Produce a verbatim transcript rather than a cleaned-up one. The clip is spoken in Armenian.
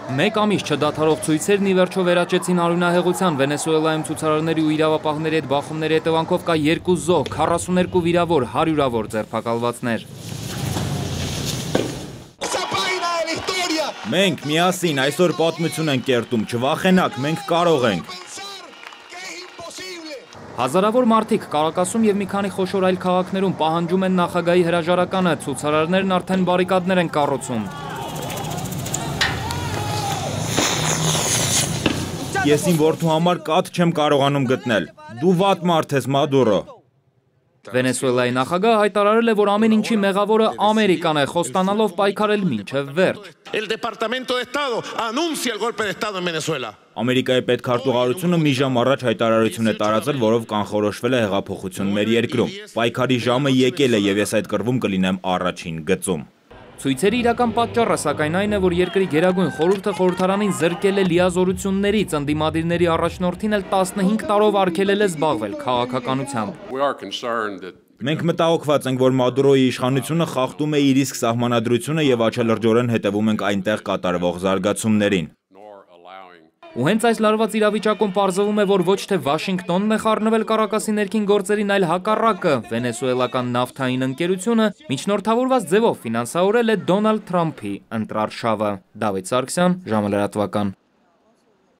Մեկ ամիս չդադարող ցույցերն ի վերջո վերաճեցին արյունահեղության։ Վենեսուելայում ցուցարարների ու իրավապահների հետ բախումների հետևանքով կա երկու զոհ, քառասուներկու վիրավոր, հարյուրավոր ձերբակալվածներ։ Մենք միասին այսօր պատմություն ենք կերտում, չվախենաք, մենք կարող ենք։ Հազարավոր մարդիկ Կարակասում և մի քանի խոշոր այլ քաղաքներում պահանջում են նախագահի հրաժարականը, ցուցարարներն արդեն բարիկադներ են կառուցում։ Ես իմ որդու համար կաթ չեմ կարողանում գտնել։ Դու վատ մարդ ես, Մադուրո։ Վենեսուելայի նախագահը հայտարարել է, որ ամեն ինչի մեղավորը Ամերիկան է, խոստանալով պայքարել մինչև վերջ։ Ամերիկայի պետքարտուղարությունը մի ժամ առաջ հայտարարություն է տարածել, որով կանխորոշվել է հեղափոխություն մեր երկրում։ Պայքարի ժամը եկել է և ես այդ կռվում կլինեմ առաջին գծում։ Ցույցերի իրական պատճառը սակայն այն է, որ երկրի գերագույն խորհուրդը խորհրդարանին զրկել է լիազորություններից, ընդդիմադիրների առաջնորդին էլ տասնհինգ տարով արգելել է զբաղվել քաղաքականությամբ։ Մենք մտահոգված ենք, որ Մադուրոյի իշխանությունը խախտում է իր իսկ սահմանադրությունը և աչալրջորեն հետևում ենք այնտեղ կատարվող զարգացումներին։ Ու հենց այս լարված իրավիճակում պարզվում է, որ ոչ թե Վաշինգտոնն է խառնվել Կարակասի ներքին գործերին, այլ հակառակը։ Վենեսուելական նավթային ընկերությունը միջնորդավորված ձևով ֆինանսավորել է Դոնալդ Թրամփի ընտրարշավը։ Դավիթ Սարգսյան, ժամը լրատվական։